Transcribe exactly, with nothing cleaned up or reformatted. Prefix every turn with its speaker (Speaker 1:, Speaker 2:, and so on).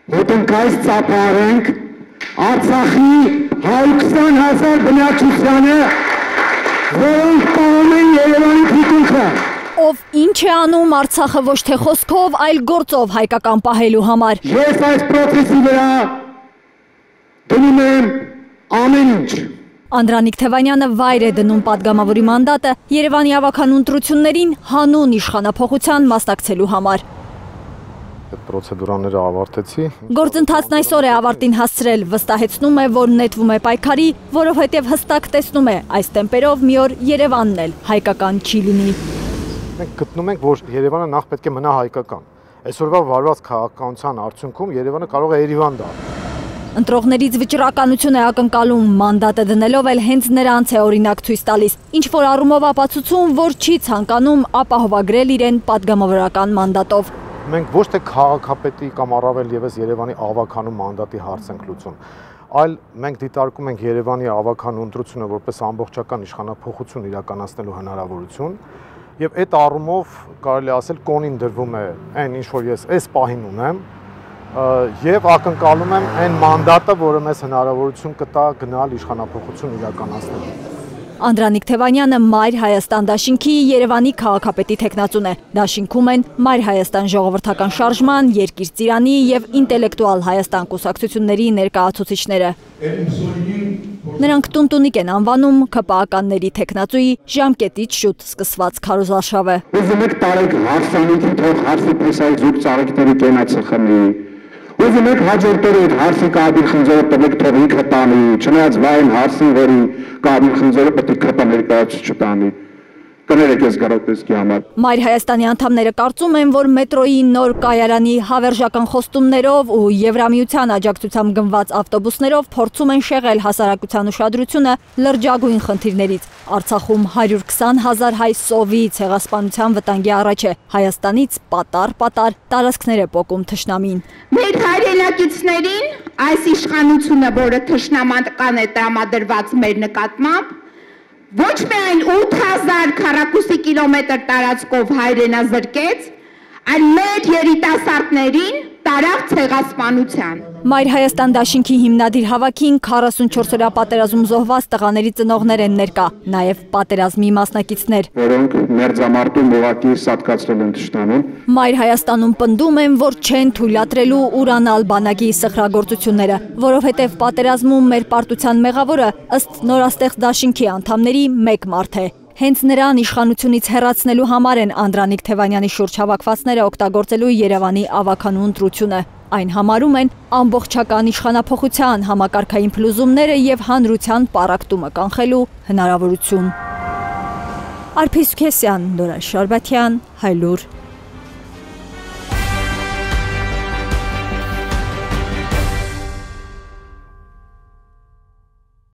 Speaker 1: Ոտնկայց ծափարենք Արցախի հայ հազար բնակչությանը, որոնք պահում են Երևանի թիկունքը։
Speaker 2: Ով ինչ է անում Արցախը ոչ թե խոսքով, այլ գործով հայկական պահելու համար։
Speaker 1: Ես այս պրոցեսի վրա դնում եմ ամեն ինչ։
Speaker 2: Անդրանիկ Թևանյանը վայր է դնում պատգամավորի մանդատը Երևանի ավագանուն ընտրություններին հանուն իշխանափոխության մասնակցելու համար։
Speaker 3: Պրոցեդուրաները ավարտեցի։
Speaker 2: Գործընթացն այսօր է ավարտին հասցրել, վստահեցնում է, որ նետվում է պայքարի, որովհետև հստակ տեսնում է, այս տեմպերով մի օր Երևանն էլ հայկական չի լինի։
Speaker 3: Մենք գտնում ենք, որ Երևանը նախ պետք է մնա հայկական։ Այսօրվա վարված քաղաքականության արդյունքում Երևանը կարող է Երևան դառնալ։
Speaker 2: Ընտրողներից վճռականություն է ակնկալում, մանդատը դնելով էլ հենց նրանց է օրինակ ցույց տալիս, ինչ որ առումով ապացուցում, որ չի ցանկանում ապահովագրել իրեն պատգամավորական մանդատով։
Speaker 3: Մենք ոչ թե քաղաքապետի կամ առավել ևս Երևանի ավագանու մանդատի հարց ենք լուծում, այլ մենք դիտարկում ենք Երևանի ավագանու ընտրությունը որպես ամբողջական իշխանափոխություն իրականացնելու հնարավորություն, եւ այդ առումով կարելի ասել կոնին դրվում է այն ինչ որ ես այս պահին ունեմ, եւ ակնկալում եմ այն մանդատը, որը մեզ հնարավորություն կտա գնալ իշխանափոխություն իրականացնելու։
Speaker 2: Անդրանիկ Թևանյանը Մայր Հայաստան դաշինքի Երևանի քաղաքապետի թեկնածուն է։ Դաշինքում են Մայր Հայաստան ժողովրդական շարժման, Երկիր ծիրանի եւ Ինտելեկտուալ Հայաստան կուսակցությունների ներկայացուցիչները։ Նրանք տունտունիկ են անվանում ՔՊԱ-ականների թեկնածուի ժամկետից շուտ սկսված քարոզարշավը։
Speaker 1: Ուզում եք տարեք հարսանիքի թող հարսի պրեսայի զուգ ծառիկների կենացը խմի։ Ուզում եք հաջորդ օրը հարսի կաբիր խնձորը տվեք թող ինքը տանի, չնայած վայն հարսին, որի կաբիր խնձորը պետք է ՔՊ ներկայացուցիչ չտանի։ Կներեք ես գարոտեսկի համար։
Speaker 2: Մայր Հայաստանի անդամները կարծում են, որ մետրոյի նոր կայարանի հավերժական խոստումներով ու Եվրամիության աջակցությամբ գնված ավտոբուսներով փորձում են շեղել հասարակության ուշադրությունը լրջագույն խնդիրներից։ Արցախում հարյուր քսան հազար հայ սովի ցեղասպանության վտանգի առաջ է։ Հայաստանից պատար-պատար տարածքներ է պոկում թշնամին։
Speaker 4: Մեր հայրենակիցներին այս իշխանությունը, որը թշնամանական է տրամադրված մեր նկատմամբ, ոչ միայն ութ հազար քառակուսի կիլոմետր տարածքով հայրենազրկեց, այլ մեր երիտասարդներին տարավ ցեղասպանության։
Speaker 2: Մայր Հայաստան դաշինքի հիմնադիր հավաքին քառասունչորս օրյա պատերազմ զոհված տղաների ծնողներ են ներկա, նաև պատերազմի մասնակիցներ,
Speaker 1: որոնք մերձամարտում ուղղակի սատկացրել են թշնամուն։
Speaker 2: Մայր Հայաստանում պնդում են, որ չեն թույլատրելու ուրանալ բանակի սխրագործությունները, որովհետև պատերազմում մեր պարտության մեղավորը ըստ նորաստեղծ դաշինքի անդամների մեկ մարդ է։ Հենց նրան իշխանությունից հեռացնելու համար են Անդրանիկ Թևանյանի շուրջ հավաքվածները օգտագործելու Երևանի ավագանու ընտրությունը։ Այն համարում են ամբողջական իշխանափոխության համակարգային փլուզումները եւ հանրության պառակտումը կանխելու հնարավորություն։ Արփիս Քեսյան, Նորա Շարբաթյան, Հայլուր։